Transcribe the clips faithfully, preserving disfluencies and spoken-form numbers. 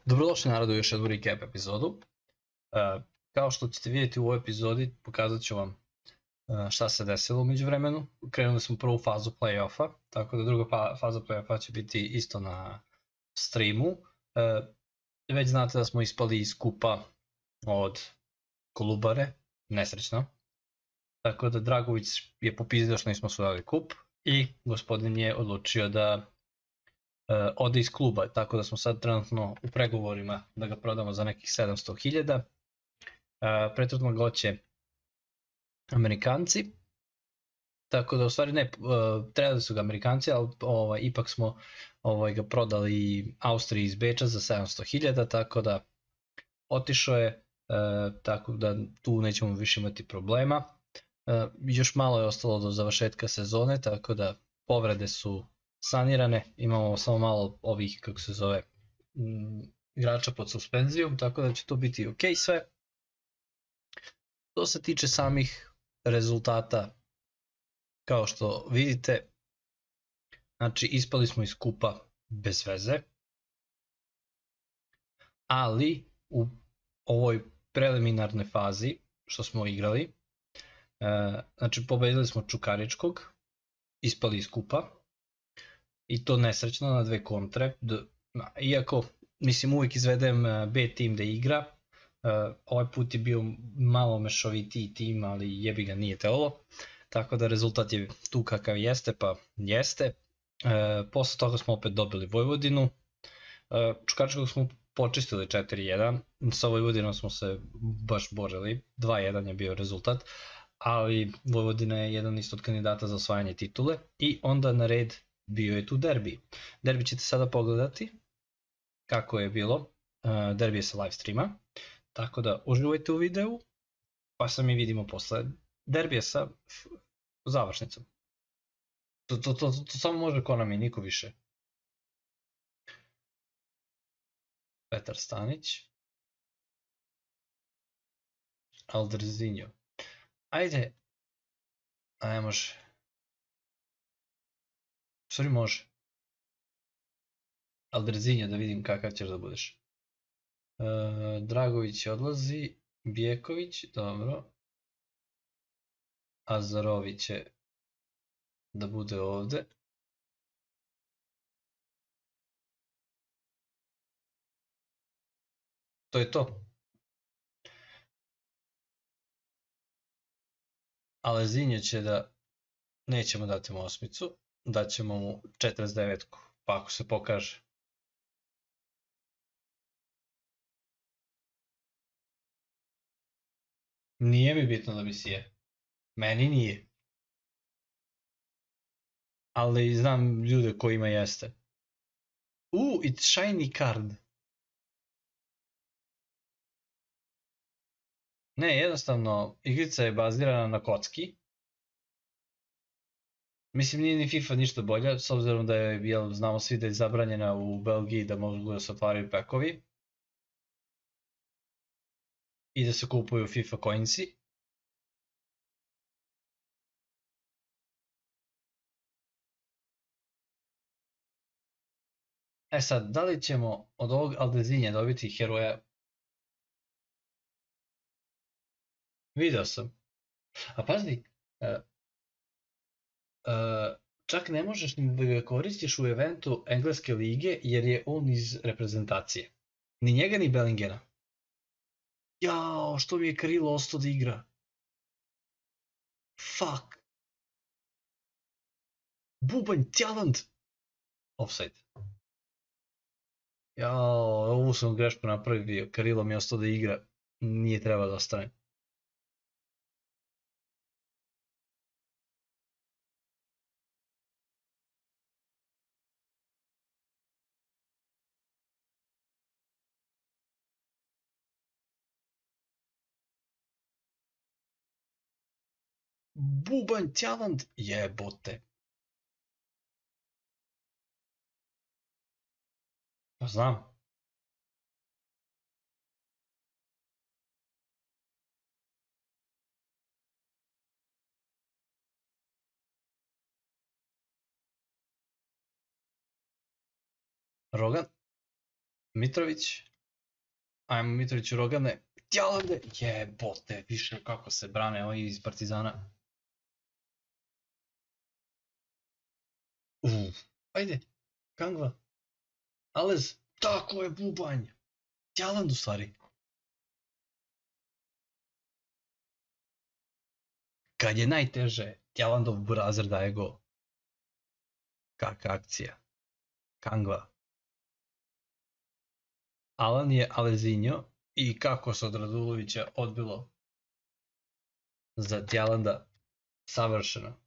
Dobrodošli narodu u još jednu recap epizodu. Uh, kao što ćete vidjeti u ovoj epizodi, pokazat ću vam uh, šta se desilo umeđu vremenu. Krenuli smo prvu fazu play-offa, tako da druga fa faza play-offa će biti isto na streamu. Uh, već znate da smo ispali iz kupa od Kolubare, nesrećno. Tako da Dragović je popizdio što nismo osvojili kup i gospodin je odlučio da Uh, ode iz kluba, tako da smo sad trenutno u pregovorima da ga prodamo za nekih sedamsto hiljada. Uh, prethodno ga hoće Amerikanci, tako da u stvari ne, uh, trebali su ga Amerikanci, ali ovaj, ipak smo ovaj, ga prodali Austriji iz Beča za sedamsto hiljada, tako da otišao je, uh, tako da tu nećemo više imati problema. Uh, još malo je ostalo do završetka sezone, tako da povrede su sanirane, imamo samo malo ovih, kako se zove, m, igrača pod suspenzijom, tako da će to biti ok sve. Što se tiče samih rezultata, kao što vidite, znači ispali smo iz kupa bez veze, ali u ovoj preliminarnoj fazi što smo igrali, e, znači pobedili smo Čukaričkog, ispali iz kupa, i to nesrećno na dve kontre, iako mislim uvijek izvedem B tim da igra, ovaj put je bio malo mešovitiji tim, ali jebi ga nije teolo, tako da rezultat je tu kakav jeste, pa jeste. Posle toga smo opet dobili Vojvodinu, Čukaričkog smo počistili četiri jedan, sa Vojvodinom smo se baš borili, dva jedan je bio rezultat, ali Vojvodina je jedan isto od kandidata za osvajanje titule i onda na red bio je tu derbi. Derbi ćete sada pogledati kako je bilo. Uh, derbi je sa live streama, tako da uživajte u videu, pa se mi vidimo posle derbija sa završnicom. To, to, to, to samo može Konami, niko više. Petar Stanić. Aldrzinho. Ajde. A ne može. Sorry, može. Aldrzinho, da vidim kakav ćeš da budeš. E, Dragović odlazi, Bijeković, dobro. Azarović će da bude ovde. To je to. Alezinho će da, nećemo dati mu osmicu, daćemo mu četrdeset devetku, pa ako se pokaže. Nije mi bitno da mi sije. Meni nije. Ali znam ljude kojima jeste. U, it's shiny card. Ne, jednostavno, igrica je bazirana na kocki. Mislim, nije ni FIFA ništa bolja, s obzirom da je, jel, znamo svi da je zabranjena u Belgiji da mogu da se otvaraju pekovi i da se kupuju FIFA coinsi. E sad, da li ćemo od ovog Aldrzinha dobiti heroja? Video sam. A pazi, uh, uh, čak ne možeš ni da ga koristiš u eventu Engleske lige jer je on iz reprezentacije. Ni njega ni Bellingena. Jao, što mi je Krilo ostao da igra. Fuck. Bubanj, talent. Offside. Jao, ovu sam grešku napravio. Krilo mi je ostao da igra. Nije trebao da ostane. Bubanj, talent, jebote. Pa znam. Rogan, Mitrović, Ajmo Mitrović, Rogane, Tjalande, jebote, više kako se brane ovi iz Partizana. Uf, ajde, Kangva, Alez, tako je bubanj, Tjaland u stvari. Kad je najteže, Tjalandov burazer daje go. Kakva akcija. Kangva. Alan je Alezinho i kako se od Radulovića odbilo za Tjalanda, savršeno.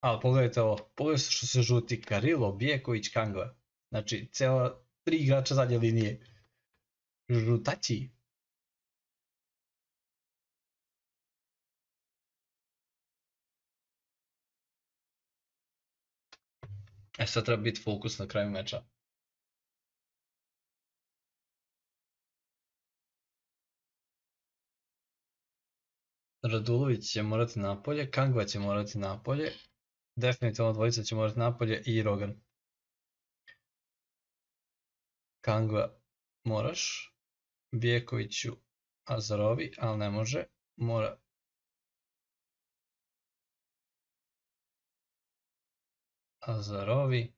Ali pogledajte ovo, pogledajte što se žuti Karilo, Bijeković, Kangva. Znači, cijela tri igrača zadnje linije. Žutaći. E sad treba biti fokus na kraju meča. Radulović će morati napolje, Kangva će morati napolje, definitivno dvojica će morati napolje i Rogan. Kangva moraš, Bijekoviću Azarovi, ali ne može, mora. Azarovi,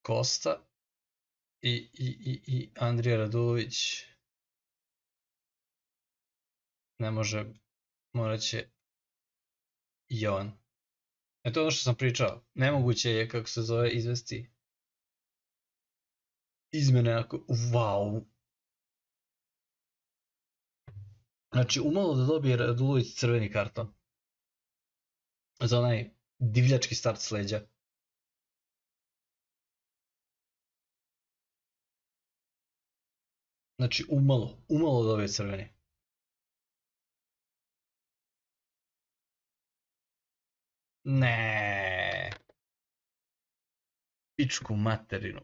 Kosta i, i, i, i Andrija Radulović. Ne može, morat će Jovan. E to je ono što sam pričao. Nemoguće je, kako se zove, izvesti izmene ako... Wow! Znači, umalo da dobije Radulović crveni karton. Za onaj divljački start s leđa. Znači, umalo, umalo da dobije crveni. Ne. Pičku materinu.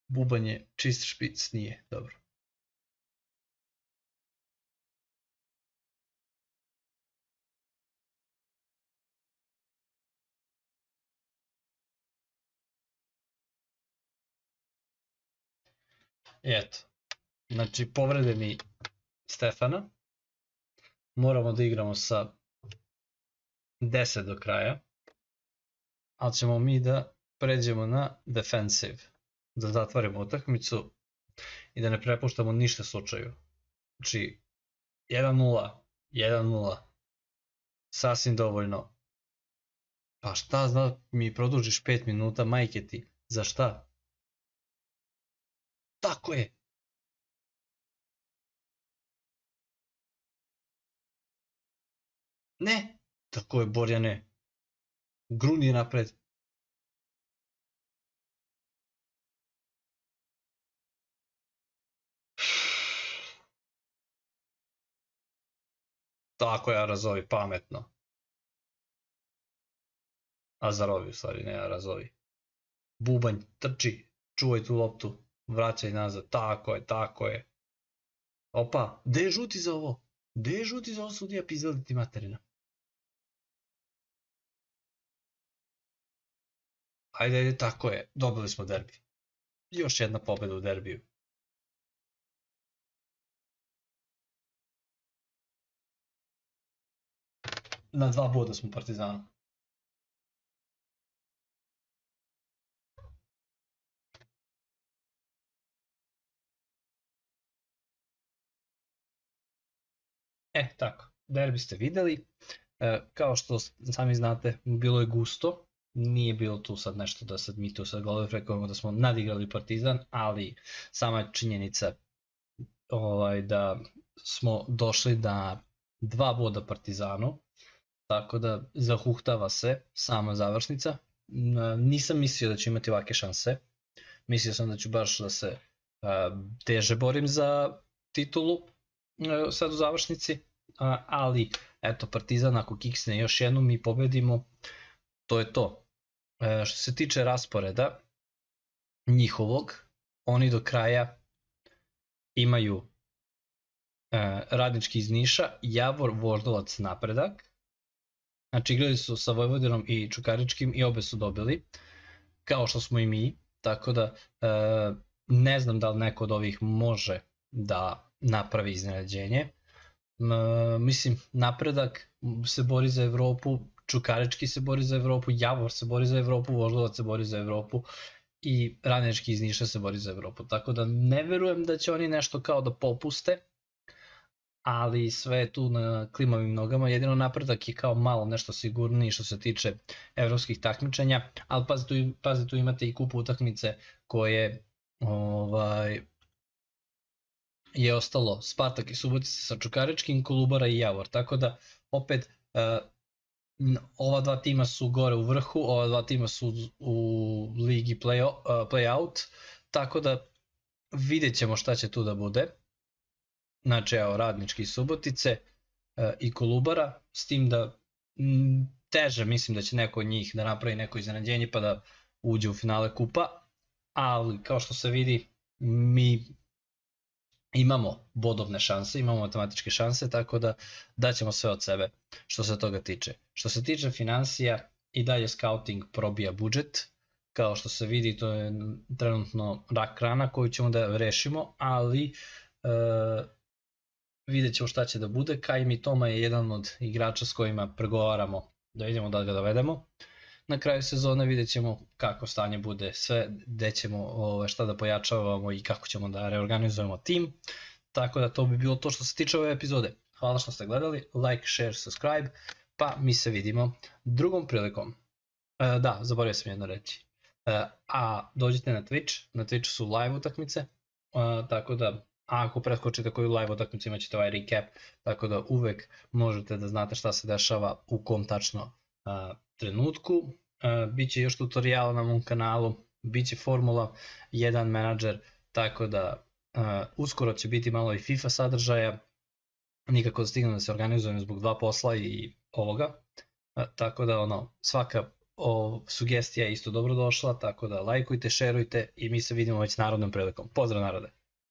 Bubanj je čist špic, nije, dobro. I eto, znači povrede mi Stefana, moramo da igramo sa deset do kraja, ali ćemo mi da pređemo na defensive, da zatvorimo utakmicu i da ne prepuštamo ništa slučaju. Znači, jedan nula, jedan nula, sasvim dovoljno. Pa šta zna, mi produžiš pet minuta, majke ti, za šta? Tako je! Ne! Tako je, Borjane. Gruni napred. Tako je, Arazovi, pametno. Azarovi, u stvari, ne Arazovi. Bubanj, trči, čuvaj tu loptu, vraćaj nazad, tako je, tako je. Opa, gde je žuti za ovo? Gde je žuti za ovo, sudija, pizdali ti materina? Ajde, ajde, tako je, dobili smo derbi. Još jedna pobjeda u derbiju. Na dva boda smo Partizanu. E, tako, derbi ste videli. E, kao što sami znate, bilo je gusto. Nije bilo tu sad nešto da sad mi tu sad gledamo prekojemo da smo nadigrali Partizan, ali sama je činjenica ovaj, da smo došli na dva boda Partizanu, tako da zahuhtava se sama završnica. Nisam mislio da ću imati ovake šanse, mislio sam da ću baš da se uh, teže borim za titulu uh, sad u završnici, uh, ali eto Partizan ako kiksne još jednu mi pobedimo, to je to. Uh, što se tiče rasporeda njihovog, oni do kraja imaju Radnički iz Niša, Javor, Voždovac, Napredak. Znači igrali su sa Vojvodinom i Čukaričkim i obe su dobili, kao što smo i mi, tako da ne znam da li neko od ovih može da napravi iznenađenje. Mislim, Napredak se bori za Evropu, Čukarički se bori za Evropu, Javor se bori za Evropu, Voždovac se bori za Evropu i Radnički iz Niša se bori za Evropu, tako da ne verujem da će oni nešto kao da popuste, ali sve je tu na klimavim nogama. Jedino Napredak je kao malo nešto sigurniji što se tiče evropskih takmičenja, ali pazi, tu imate i kupu utakmice koje je ostalo Spartak i Subotica sa Čukaričkim, Kolubara i Javor, tako da opet ova dva tima su gore u vrhu, ova dva tima su u ligi play-out, tako da vidjet ćemo šta će tu da bude. Znači evo Radnički iz Subotice i Kolubara, s tim da teže mislim da će neko od njih da napravi neko iznenađenje pa da uđe u finale kupa, ali kao što se vidi mi imamo bodovne šanse, imamo matematičke šanse, tako da daćemo sve od sebe što se toga tiče. Što se tiče financija, i dalje scouting probija budžet, kao što se vidi to je trenutno rak rana koju ćemo da rešimo, ali vidjet ćemo šta će da bude. Kaj mi Toma je jedan od igrača s kojima pregovaramo da vidimo da ga dovedemo. Na kraju sezone vidjet ćemo kako stanje bude, sve gde ćemo šta da pojačavamo i kako ćemo da reorganizujemo tim. Tako da to bi bilo to što se tiče ove epizode. Hvala što ste gledali, like, share, subscribe, pa mi se vidimo drugom prilikom. Da, zaboravio sam jedno reći. A dođite na Twitch, na Twitchu su live utakmice, tako da ako preskočite koju live utakmicu imat ćete ovaj recap, tako da uvek možete da znate šta se dešava u kom tačno trenutku. Biće još tutoriala na mom kanalu, biće Formula jedan menadžer, tako da uskoro će biti malo i FIFA sadržaja, nikako da stignem da se organizujem zbog dva posla i ovoga, tako da ono, svaka sugestija je isto dobro došla, tako da lajkujte, šerujte i mi se vidimo već narodnom prilikom. Pozdrav narode!